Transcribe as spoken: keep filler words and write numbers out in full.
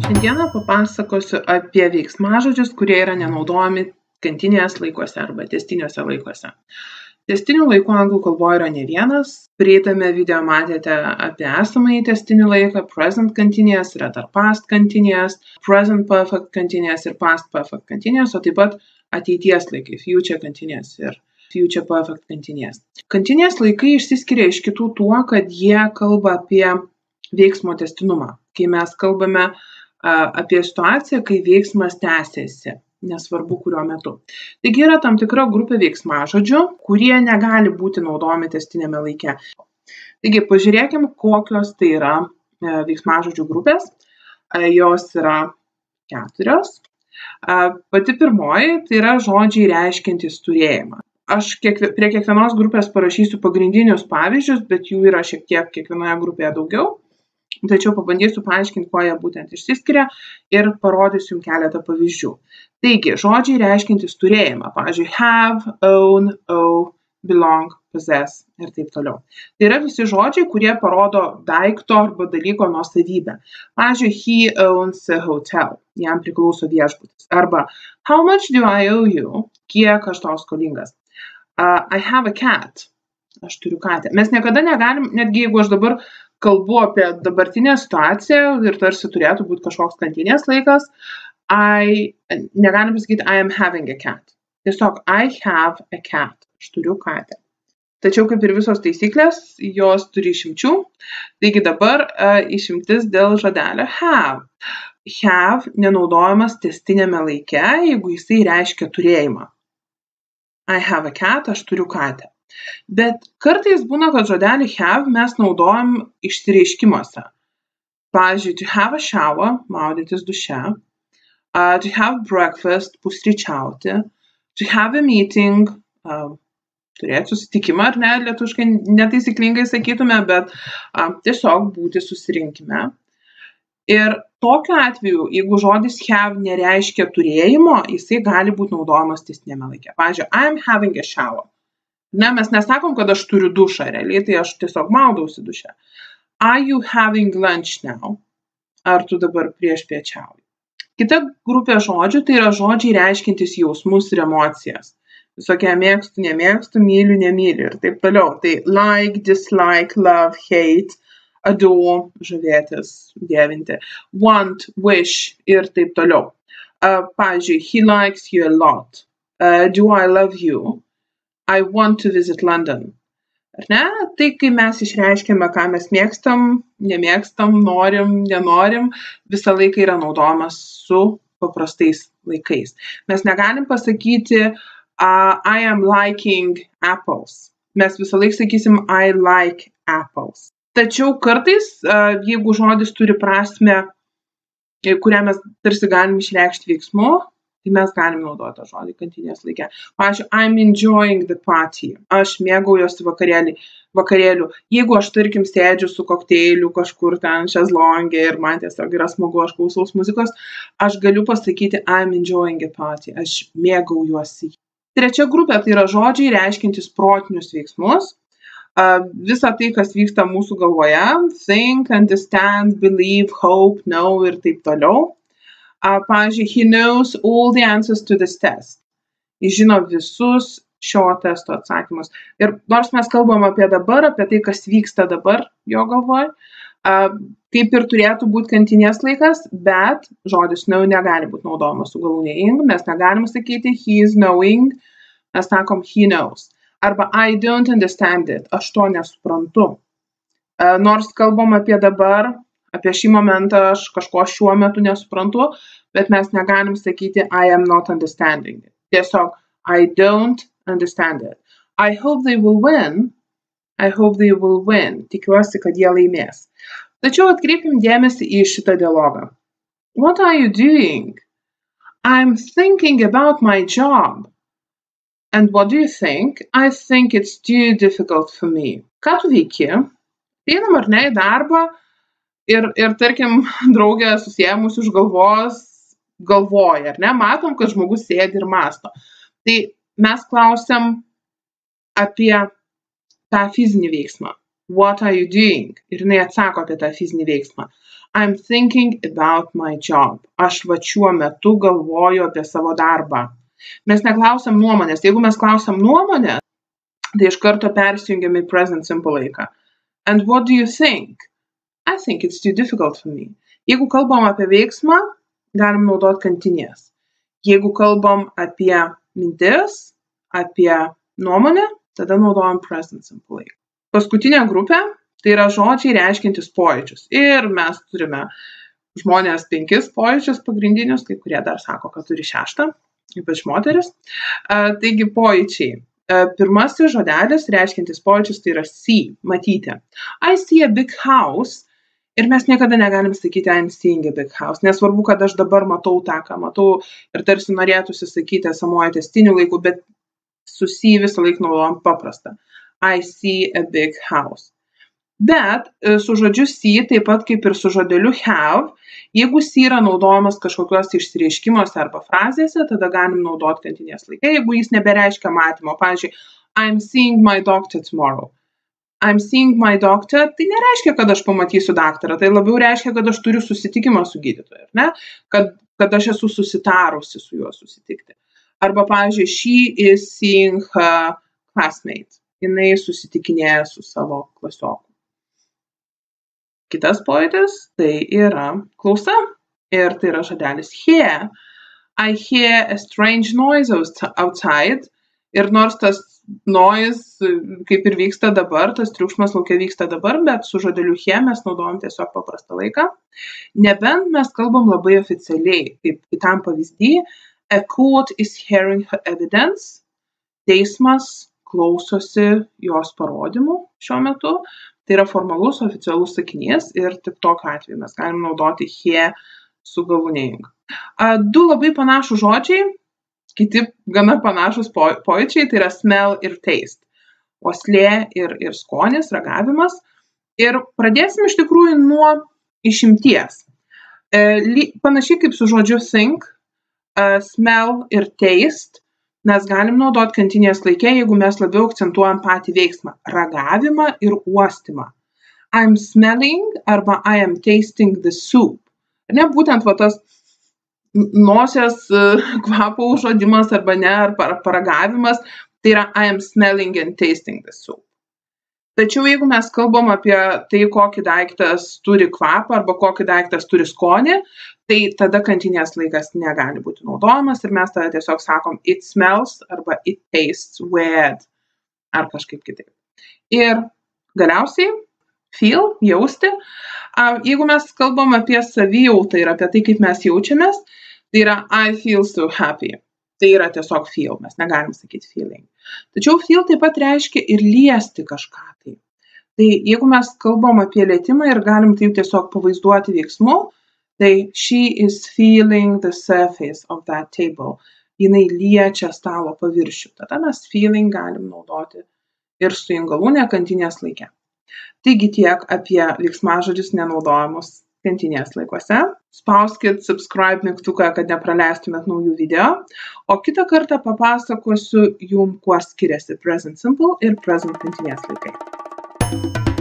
Šiandieną papasakosiu apie veiksmažodžius, kurie yra nenaudojami continuous laikuose arba tęstiniuose laikuose. Tęstinių laikų anglų kalboje yra ne vienas. Praeitame video matėte apie esamąjį tęstinį laiką, present continuous, yra dar past continuous, present perfect continuous ir past perfect continuous, o taip pat ateities laikai, future continuous ir future perfect continuous. Continuous laikai išsiskiria iš kitų tuo, kad jie kalba apie veiksmo tęstinumą. Kai mes kalbame apie situaciją, kai veiksmas tęsiasi, nesvarbu kuriuo metu. Taigi yra tam tikra grupė veiksmažodžių, kurie negali būti naudojami tęstiniame laike. Taigi pažiūrėkim, kokios tai yra veiksmažodžių grupės. Jos yra keturios. Pati pirmoji tai yra žodžiai reiškiantys turėjimą. Aš kiekvie, prie kiekvienos grupės parašysiu pagrindinius pavyzdžius, bet jų yra šiek tiek kiekvienoje grupėje daugiau. Tačiau pabandysiu paaiškinti, kuo jie būtent išsiskiria ir parodysiu jums keletą pavyzdžių. Taigi, žodžiai reiškiantys turėjimą, pavyzdžiui, have, own, owe, belong, possess ir taip toliau. Tai yra visi žodžiai, kurie parodo daikto arba dalyko nuosavybę. Pavyzdžiui, he owns a hotel, jam priklauso viešbutis. Arba, how much do I owe you? Kiek aš tau skolingas? Uh, I have a cat. Aš turiu katę. Mes niekada negalim, netgi jeigu aš dabar kalbu apie dabartinę situaciją ir tarsi turėtų būti kažkoks kantinės laikas, I, negalim pasakyti I am having a cat. Tiesiog I have a cat. Aš turiu katę. Tačiau kaip ir visos taisyklės, jos turi išimčių. Taigi dabar uh, išimtis dėl žodelio have. Have nenaudojamas tęstiniame laike, jeigu jisai reiškia turėjimą. I have a cat, aš turiu katę. Bet kartais būna, kad žodelį have mes naudojam išsireiškimuose. Pavyzdžiui, to have a shower, maudytis duše, uh, to have breakfast, pusryčiauti, to have a meeting, uh, turėti susitikimą, ar ne, lietuviškai netaisyklingai sakytume, bet uh, tiesiog būti susirinkime. Ir tokiu atveju, jeigu žodis have nereiškia turėjimo, jisai gali būti naudojamas tęstiniame laike. Pavyzdžiui, I am having a shower. Ne, mes nesakom, kad aš turiu dušą, realiai, tai aš tiesiog maudausi duše. Are you having lunch now? Ar tu dabar priešpiečiauji? Kita grupė žodžių tai yra žodžiai reiškiantys jausmus ir emocijas. Visokie mėgstu, nemėgstu, myliu, nemyliu ir taip toliau. Tai like, dislike, love, hate, adore, žavėtis, dievinti, want, wish ir taip toliau. Uh, pavyzdžiui, he likes you a lot. Uh, do I love you? I want to visit London. Ar ne? Tai, kai mes išreiškiame, ką mes mėgstam, nemėgstam, norim, nenorim, visą laiką yra naudojamas su paprastais laikais. Mes negalim pasakyti uh, I am liking apples. Mes visą laiką sakysim I like apples. Tačiau kartais, uh, jeigu žodis turi prasmę, kurią mes tarsi galim išreikšti veiksmu, tai mes galim naudoti tą žodį kantinės laike. Pavyzdžiui, I'm enjoying the party. Aš mėgaujuosi vakarėlį, vakarėlių. Jeigu aš, tarkim, sėdžiu su kokteiliu kažkur ten šezlonge ir man tiesiog yra smagu, aš klausaus muzikos, aš galiu pasakyti I'm enjoying a party. Aš mėgaujuosi. Trečia grupė tai yra žodžiai reiškiantys protinius veiksmus. Uh, visa tai, kas vyksta mūsų galvoje, think, understand, believe, hope, know ir taip toliau. Uh, pavyzdžiui, he knows all the answers to this test. Jis žino visus šio testo atsakymus. Ir nors mes kalbam apie dabar, apie tai, kas vyksta dabar jo galvoje, uh, kaip ir turėtų būti kantinės laikas, bet žodis know negali būti naudojamas su galūne ing. Mes negalim sakyti he is knowing, mes sakom he knows. Arba I don't understand it, aš to nesuprantu. Uh, nors kalbam apie dabar, apie šį momentą aš kažko šiuo metu nesuprantu, bet mes negalim sakyti I am not understanding it. Tiesiog I don't understand it. I hope they will win. I hope they will win. Tikiuosi, kad jie laimės. Tačiau atkreipim dėmesį į šitą dialogą. What are you doing? I'm thinking about my job. And what do you think? I think it's too difficult for me. Ką tu veiki? Einam ar ne į darbą? Ir, ir tarkim, draugė susiėmus už galvos galvoja, ar ne? Matom, kad žmogus sėdi ir mąsto. Tai mes klausiam apie tą fizinį veiksmą. What are you doing? Ir jinai atsako apie tą fizinį veiksmą. I'm thinking about my job. Aš va šiuo metu galvoju apie savo darbą. Mes neklausiam nuomonės. Jeigu mes klausiam nuomonę, tai iš karto persijungiam į present simple laiką. And what do you think? I think it's too difficult for me. Jeigu kalbam apie veiksmą, galim naudoti continuous. Jeigu kalbam apie mintis, apie nuomonę, tada naudojam present simple laiką. Paskutinė grupė tai yra žodžiai reiškiantys pojūčius. Ir mes turime žmonės penkis pojūčius pagrindinius, kai kurie dar sako, kad turi šeštą, ypač moteris. Taigi pojūčiai. Pirmasis žodelis reiškiantis pojūčius tai yra see, matyti. I see a big house. Ir mes niekada negalim sakyti I'm seeing a big house. Nesvarbu, kad aš dabar matau tą, ką matau ir tarsi norėtųsi sakyti esamojo tęstiniu laiku, bet su see visą laiką naudojam paprastą. I see a big house. Bet su žodžiu see, taip pat kaip ir su žodeliu have, jeigu see yra naudojamas kažkokiuose išsireiškimuose arba frazėse, tada galim naudoti continuous laiką, jeigu jis nebereiškia matymo. Pavyzdžiui, I'm seeing my doctor tomorrow. I'm seeing my doctor, tai nereiškia, kad aš pamatysiu daktarą, tai labiau reiškia, kad aš turiu susitikimą su gydytoju, ne? Kad, kad aš esu susitarusi su juo susitikti. Arba, pavyzdžiui, she is seeing her classmate. Jinai susitikinėja su savo klasioku. Kitas pojūtis tai yra klausa. Ir tai yra žodelis hear. I hear a strange noise outside. Ir nors tas noise, kaip ir vyksta dabar, tas triukšmas lauke vyksta dabar, bet su žodeliu hear mes naudojam tiesiog paprastą laiką. Nebent mes kalbam labai oficialiai, kaip kitam pavyzdį, a court is hearing her evidence. Teismas klausosi jos parodymų šiuo metu. Tai yra formalus, oficialus sakinys ir tik tokiu atveju mes galim naudoti hear su galūnėjimu. Du labai panašūs žodžiai, kiti gana panašūs pojūčiai, tai yra smell ir taste. Uoslė ir, ir skonis, ragavimas. Ir pradėsim iš tikrųjų nuo išimties. Panašiai kaip su žodžiu think, smell ir taste, mes galim naudoti continuous laike, jeigu mes labiau akcentuojam patį veiksmą, ragavimą ir uostymą. I'm smelling arba I am tasting the soup. Ne, būtent va tas nosies kvapo užuodimas arba ne, ar paragavimas, tai yra I am smelling and tasting the soup. Tačiau jeigu mes kalbam apie tai, kokį daiktas turi kvapą arba kokį daiktas turi skonį, tai tada continuous laikas negali būti naudojamas ir mes tada tiesiog sakom it smells arba it tastes weird ar kažkaip kitaip. Ir galiausiai feel, jausti. Jeigu mes kalbam apie savijautą ir apie tai, kaip mes jaučiamės, tai yra I feel so happy. Tai yra tiesiog feel, mes negalim sakyti feeling. Tačiau feel taip pat reiškia ir liesti kažką tai. Tai jeigu mes kalbam apie lietimą ir galim taip tiesiog pavaizduoti veiksmu, tai she is feeling the surface of that table. Jinai liečia stalo paviršių. Tada mes feeling galim naudoti ir su jungalūne continuous laike. Taigi tiek apie veiksmažodžius nenaudojamus continuous laikuose. Spauskit subscribe mygtuką, kad nepraleistumėt naujų video. O kitą kartą papasakosiu jum, kuo skiriasi present simple ir present continuous laikai.